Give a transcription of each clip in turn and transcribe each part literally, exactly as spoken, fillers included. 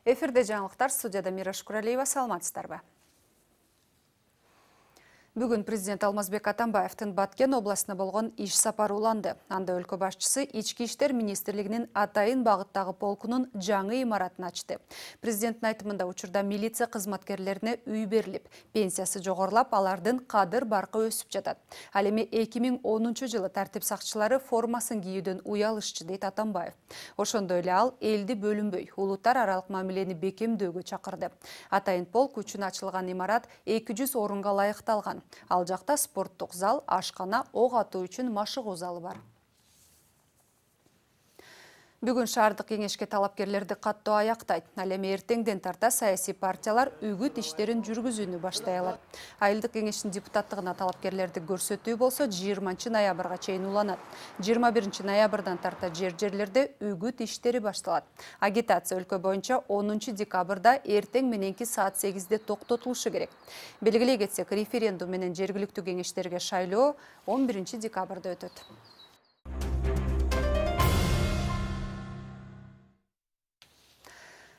Эфирде жаңылыктар, студияда Мира Шукуралиева, саламатсыздарбы? Бүгүн президент Алмазбек Атамбаевдин Баткен областына болгон иш сапары уланды. Анда өлкө башчысы Ички иштер министрлигинин Атайын багыттагы полкунун жаңы имаратын ачты. Президенттин айтымында учурда милиция кызматкерлерине үй берилип, пенсиясы жогорулап, алардын кадыр баркы өсүп жатат. Ал эми эки миң онунчу жылы тартип сакчылары формасын кийүүдөн уялышчы, дейт Атамбаев. Ошондой эле ал элди бөлүнбөй, улуттар аралык мамилени бекемдөөгө чакырды. Атайын полк үчүн ачылган имарат эки жүз орунга ылайыкталган. Ал жакта спорттук зал, ашкана, ок атуу үчүн машыгуу залы бар. Бүгүн шаардык кеңешке талапкерлерди каттоо аяктайт. Ал эми эртеңден тарта саясий партиялар үгүт иштерин жүргүзүүнү баштай алат. Айылдык кеңештин депутаттыгына талапкерлерди көрсөтүү болсо жыйырманчы ноябрга чейин уланат. жыйырма биринчи ноябрдан тарта жер-жерлерде үгүт иштери башталат. Агитация өлкө боюнча онунчу декабрда эртең мененки саат сегизде токтотулушу керек. Белгилей кетсек, референдум менен жергиликтүү кеңештерге шайлоо он биринчи декабрда өтөт.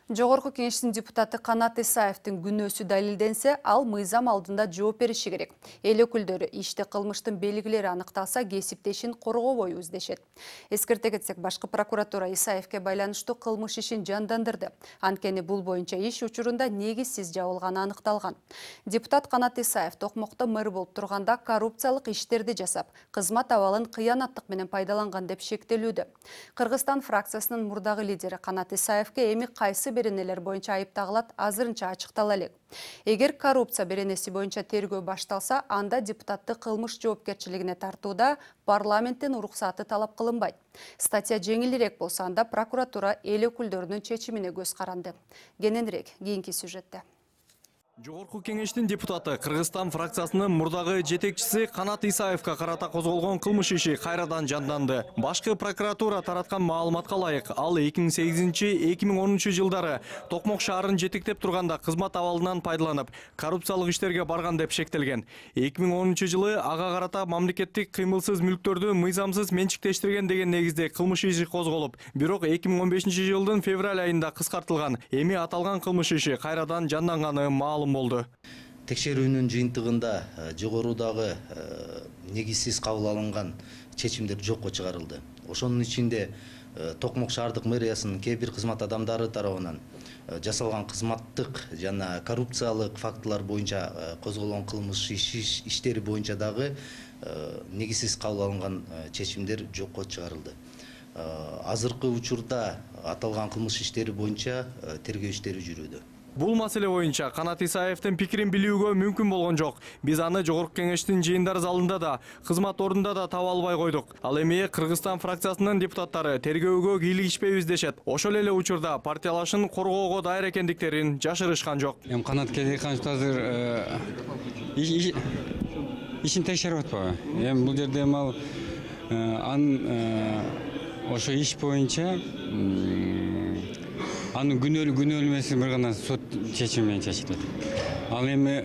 Жогорку кеңештин депутаты Канат Исаевдин күнөөсү далилденсе, ал мыйзам алдында жооп бериши керек. Эл өкүлдөрү иште кылмыштын белгилери аныкталса, кесиптешин коргобойбуз дешет. Эскерте кетсек, башкы прокуратура Исаевке байланыштуу кылмыш ишин жандандырды. Анткени бул боюнча иш учурунда негизсиз жабылганы аныкталган. Депутат Канат Исаев Токмокто мэр болуп турганда коррупциялык иштерди жасап, кызмат абалын кыянаттык менен пайдаланган деп шектелүүдө. Кыргызстан фракциясынын мурдагы лидери Канат Исаевке эми кайсы беренелер боюнча айыптагылат азырынча ачыктала элек. Эгер коррупция беренеси боюнча тергөө башталса, анда депутатты кылмыш жоопкерчилигине тартууда парламенттин уруксаты талап кылынбайт. Статья жеңилирээк болсо, анда прокуратура эл өкүлдөрүнүн чечимине көз каранды. Кененирээк кийинки сюжетте. Жогорку кеңештин депутаты Кыргызстан фракциясынын мурдагы жетекчиси Канат Исаевка карата козголгон кылмыш иши кайрадан жанданды. Башкы прокуратура тараткан маалыматка ылайык, ал эки миң сегизинчи — эки миң онунчу жылдары Токмок шаарын жетектеп турганда кызмат абалынан пайдаланып, коррупциялык иштерге барган деп шектелген. эки миң онунчу жылы ага карата мамлекеттик кыймылсыз мүлктөрдү мыйзамсыз менчиктештирген деген негизде кылмыш иши козголуп, бирок эки миң он бешинчи жылдын февраль айында кыскартылган. Эми аталган кылмыш иши кайрадан жанданганы маалым болду. Текшерүүнүн жыйынтыгында жогорудагы негизсиз кабыл алынган чечимдер жокко чыгарылды. Ошонун ичинде Токмок шаардык мэриясынын кээ бир кызмат адамдары тарабынан жасалган кызматтык жана коррупциялык фактылар боюнча козголгон кылмыш иштери боюнча дагы негизсиз кабыл алынган чечимдер жокко чыгарылды. Азыркы учурда аталган кылмыш иштери боюнча тергөө иштери жүрүүдө. Бул маселе боюнча Канат Исаевдин пикирин билүүгө мүмкүн болгон жок. Биз аны жогорку кеңештин жыйындар залында да, кызмат ордунда да таба албай койдук. Ал эми Кыргызстан фракциясынын депутаттары тергөөгө кийлигишпейбиз дешет. Ошол эле учурда партиялашын коргоого даяр экендиктерин жашырышкан жок. Эми Канат Келеканович азыр ишин текшерип атпайбы? Эми бул жерде ал анын ошо иш боюнча анын күнөөлүү күнөөлөмөсү бир гана сот чечими менен чечилет. Ал эми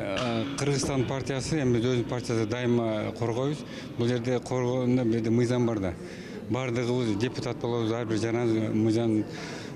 Кыргызстан партиясы, эми биз өзүбүздүн партияда дайыма коргойбуз. Бул жерде коргоонда бизде мыйзам бар да. Бардыгыбыз депутат болобуз, ар бир жана мыйзамдын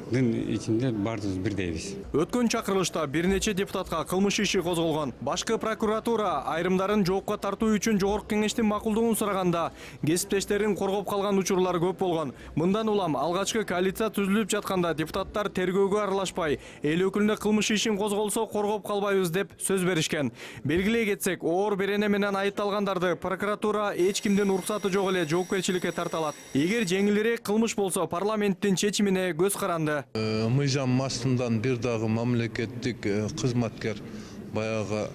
ичинде бардыгыбыз бирдейбиз. Өткөн чакырылышта бир нече депутатка кылмыш иши козголгон. Башкы прокуратура айрымдарын жоопко тартуу үчүн жогорку кеңештин макулдугун сураганда, кесиптештерин коргоп калган учурлар көп болгон. Мындан улам алгачкы коалиция түзүлүп жатканда депутаттар тергөөгө аралашпай, эл өкүлүнө кылмыш ишин козголсо коргоп калбайбыз деп сөз беришкен. Белгилей кетсек, оор берене менен айыпталгандарды прокуратура эч кимдин уруксаты жок эле жоопкерчиликке тарталат. Эгер жеңилирээк кылмыш болсо, парламенттин чечимине көз каранды. Мыйзам астынан бир дагы мамлекеттик кызматкер баягы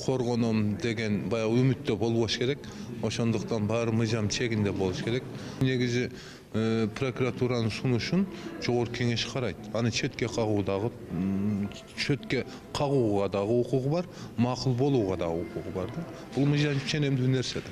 коргоном деген баягы үмүттө болбош керек. Ошондуктан баары мыйзам чегинде болуш керек. Негизи прокуратуранын сунушун жогорку кеңеш карайт. Аны четке кагуу дагы четке кагууга дагы укугу бар, макул болууга дагы укугу бар да. Бул мыйзам ченемдүү нерсе да.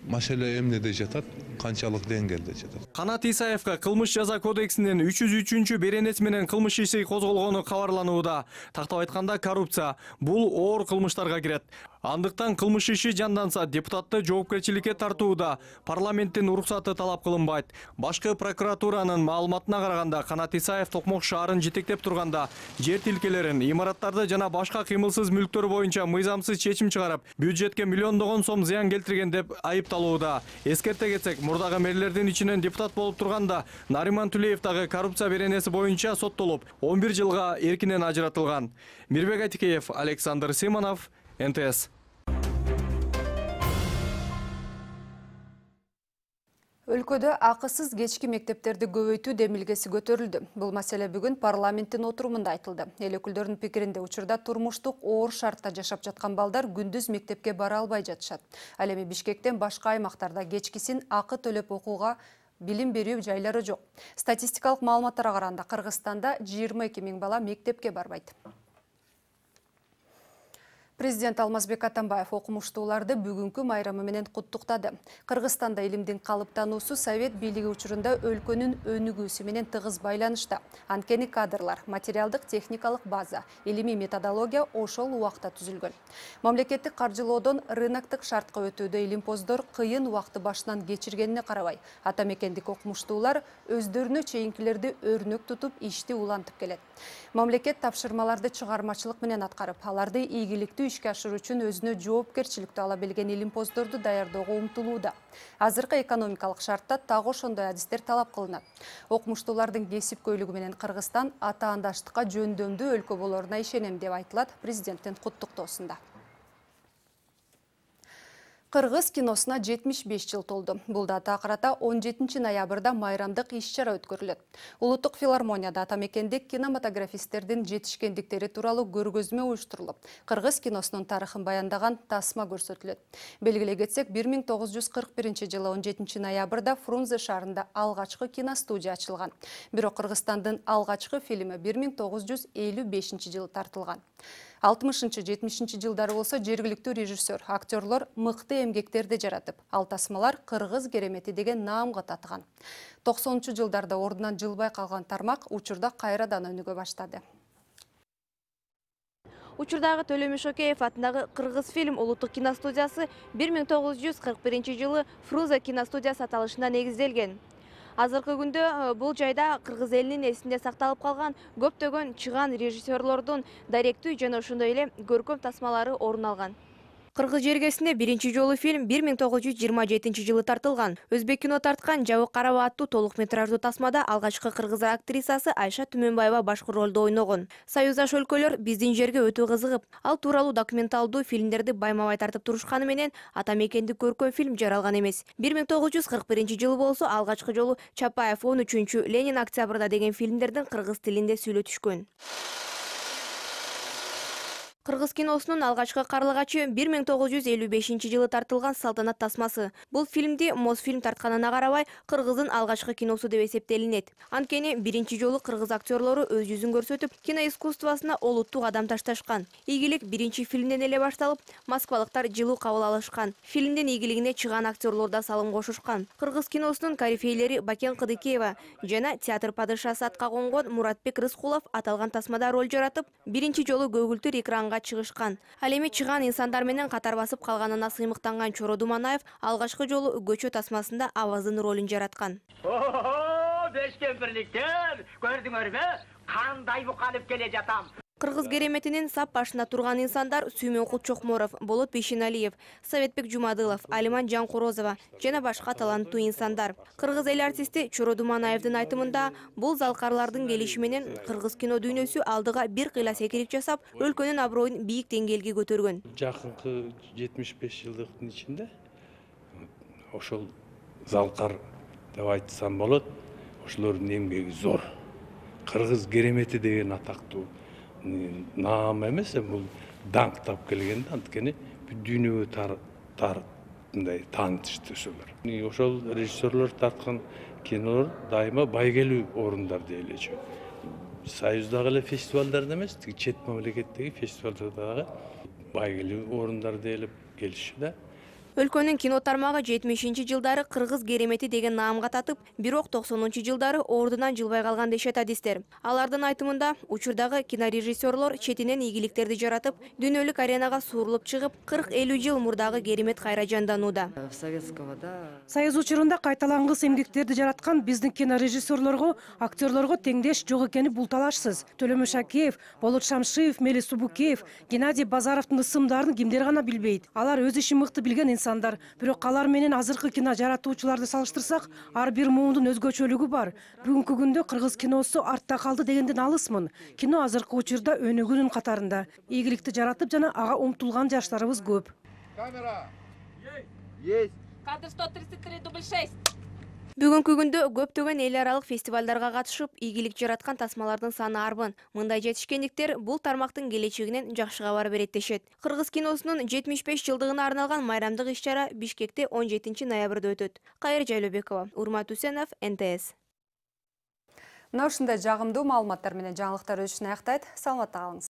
Маселе эмнеде жатат, канчалык деңгээлде жатат. Канат Исаевка кылмыш жаза кодексинин үч жүз үчүнчү беренеси менен кылмыш иши козголгону кабарланууда. Тактап айтканда, коррупция бул оор кылмыштарга кирет. Андыктан кылмыш иши жанданса депутатты жоопкерчиликке тартууда парламенттин уруксаты талап кылынбайт. Башкы прокуратуранын маалыматына караганда Канат Исаев Токмок шаарын жетектеп турганда жер тилкелерин, имараттарды жана башка кыймылсыз мүлктөр боюнча мыйзамсыз чечим чыгарып, бюджетке миллиондогон сом зыян келтирген деп айыпталууда. Эскерте кетсек, мурдагы мэрлердин ичинен депутат болуп турганда Нариман Түлеев дагы коррупция беренеси боюнча соттолуп, он бир жылга эркинен ажыратылган. Мирбек Айтикеев, Александр Симонов, эн тэ эс. Өлкөдө акысыз кечки мектептерди көбөйтүү демилгеси көтөрүлдү. Бул маселе бүгүн парламенттин отурумунда айтылды. Эл өкүлдөрүнүн пикиринде учурда турмуштук оор шартта жашап жаткан балдар күндүз мектепке бара албай жатышат. Ал эми Бишкектен башка аймактарда кечкисин акы төлөп окууга билим берүү жайлары жок. Статистикалык маалыматтарга караганда Кыргызстанда жыйырма эки миң бала мектепке барбайт. Президент Алмазбек Атамбаев окумуштууларды бүгүнкү майрамы менен куттуктады. Кыргызстанда илимдин калыптануусу совет бийлиги учурунда өлкөнүн өнүгүүсү менен тыгыз байланышта. Анткени кадрлар, материалдык техникалык база, илимий методология ошол убакта түзүлгөн. Мамлекеттик каржылоодон рыноктук шартка өтүүдө илимпоздор кыйын убакты башынан кечиргенине карабай, ата мекендик окумуштуулар өздөрүнө чейинкилерди өрнөк тутуп ишти улантып келет. Мамлекет тапшырмаларды чыгармачылык менен аткарып, аларды ийгиликтүү ишке ашыруу үчүн өзүнө жоопкерчиликти ала билген илимпоздорду даярдоого умтулууда. Азыркы экономикалык шартта так ошондой адистер талап кылынат. Окумуштуулардын кесипкөйлүгү менен Кыргызстан атаандаштыкка жөндөмдүү өлкө болоруна ишенем деп айтылат президенттин куттуктоосунда. Кыргыз киносуна жетимиш беш жыл толду. Бул датага карата он жетинчи ноябрда майрамдык иш-чара өткөрүлөт. Улуттук филармонияда ата мекендик кинематографисттердин жетишкендиктери тууралуу көргөзмө уюштурулуп, кыргыз киносунун тарыхын баяндаган тасма көрсөтүлөт. Белгилей кетсек, бир миң тогуз жүз кырк биринчи жылы он жетинчи ноябрда Фрунзе шаарында алгачкы киностудия ачылган. Бирок Кыргызстандын алгачкы фильми бир миң тогуз жүз элүү бешинчи жылы тартылган. алтымышынчы жетимишинчи жылдары болсо жергиликтүү режиссер, актерлор мыкты эмгектерди жаратып, ал тасмалар кыргыз керемети деген наамга татыган. токсонунчу жылдарда ордунан жылбай калган тармак учурда кайрадан өнүгө баштады. Учурдагы Төлөмүш Шокеев атындагы Кыргыз фильм улуттук киностудиясы бир миң тогуз жүз кырк биринчи жылы Фрунзе киностудиясы аталышында негизделген. Азыркы күндө бул жайда кыргыз элинин эсинде сакталып калган көптөгөн чыган режиссерлордун даректүү жана ошондой эле көркөм тасмалары орун алган. Кыргыз жергесинде биринчи жолу фильм бир миң тогуз жүз жыйырма жетинчи жылы тартылган. Өзбек кино тарткан Жабык Караба аттуу толук метраждуу тасмада алгачкы кыргыз актрисасы Айша Түмөнбаева башкы ролдо ойногон. Союздаш өлкөлөр биздин жерге өтө кызыгып, ал тууралуу документалдуу фильмдерди байма-бай тартып турушканы менен ата мекендик көркөм фильм жаралган эмес. бир миң тогуз жүз кырк биринчи жылы болсо алгачкы жолу Чапаев он үчүнчү, Ленин октябрда деген фильмдердин кыргыз тилинде сүйлөтүшкөн. Кыргыз киносунун алгачкы карлыгачы бир миң тогуз жүз элүү бешинчи жылы тартылган Салтанат тасмасы. Бул фильмди Мосфильм тартканына карабай, кыргыздын алгачкы киносу деп эсептелинет. Анткени биринчи жолу кыргыз актерлору өз жүзүн көрсөтүп, киноискусствосуна олуттуу кадам ташташкан. Ийгилик биринчи фильмден эле башталып, москвалыктар жылуу кабыл алышкан. Фильмдин ийгилигине чыган актерлор да салым кошушкан. Кыргыз киносунун корифейлери Бакен Кыдыкеева жана театр падышасы атка конгон Муратбек Рыскулов аталган тасмада роль жаратып, биринчи жолу көгүлтүр экранга чыгышкан. Ал эми чыган инсандар менен катар басып калганына сыймыктанган Чоро Думанаев алгачкы жолу көчө тасмасында аваздын ролун жараткан. О, бешкен бирликтер, көрдүңөрбү? Кандай букалып келе жатам. Кыргыз кереметинин сап башында турган инсандар Сүймөнкул Чокморов, Болот Бейшеналиев, Советбек Жумадылов, Алиман Жанкурозова жана башка таланттуу инсандар. Кыргыз эл артисти Чоро Думанаевдин айтымында, бул залкарлардын келиши менен кыргыз кино дүйнөсү алдыга бир кыйла секирик жасап, өлкөнүн аброюн бийик деңгээлге көтөргөн. Жакынкы жетимиш беш жылдыктын ичинде ошол залкар деп айтсам болот, ошолордун эмгеги зор. Кыргыз керемети деген атактуу наам эмес, бул даңктап келген, анткени дүйнөгө мындай таанытышты ошолор. Ошол режиссерлор тарткан кинолор дайыма байгелүү орундар дейлечү. Союздагы эле фестивалдарда эмес, чет мамлекеттеги фестивалдарда байгелүү орундар делип келишти да. Өлкөнүн кино тармагы жетимишинчи жылдары кыргыз керемети деген наамга татып, бирок токсонунчу жылдары ордунан жылбай калган дешет адистер. Алардын айтымында, учурдагы кинорежиссерлор четинен ийгиликтерди жаратып, дүйнөлүк аренага суурулуп чыгып, кырк элүү жыл мурдагы керемет кайра жанданууда. Союз учурунда кайталангыс эмгектерди жараткан биздин кинорежиссерлорго, актерлорго теңдеш жок экени бул талашсыз. Төлөмүш Шакеев, Болот Шамшиев, Мелис Субукеев, Геннадий Базаровдун ысымдарын кимдер гана билбейт. Алар өз ишин мыкты билген инсандар. Бирок алар менен азыркы кино жаратуучуларды салыштырсак, ар бир муундун өзгөчөлүгү бар. Бүгүнкү күндө кыргыз киносу артта калды дегенден алысмын. Кино азыркы учурда өнүгүүнүн катарында. Ийгиликти жаратып жана ага умтулган жаштарыбыз көп. Камера. Есть. Кадр сто тридцать три, дубль шесть. Бүгүнкү күндө көптөгөн эл аралык фестивалдарга катышып, ийгилик жараткан тасмалардын саны арбын. Мындай жетишкендиктер бул тармактын келечегинен жакшы кабар берет дешет. Кыргыз киносунун жетимиш беш жылдыгына арналган майрамдык иш-чара Бишкекте он жетинчи ноябрда өтөт. Кайыр Жайлообекова, Урмат Үсенов, эн тэ эс. Мына ушундай жагымдуу маалыматтар менен жаңылыктар өтүшүн аяктайт. Саламатта калыңыз.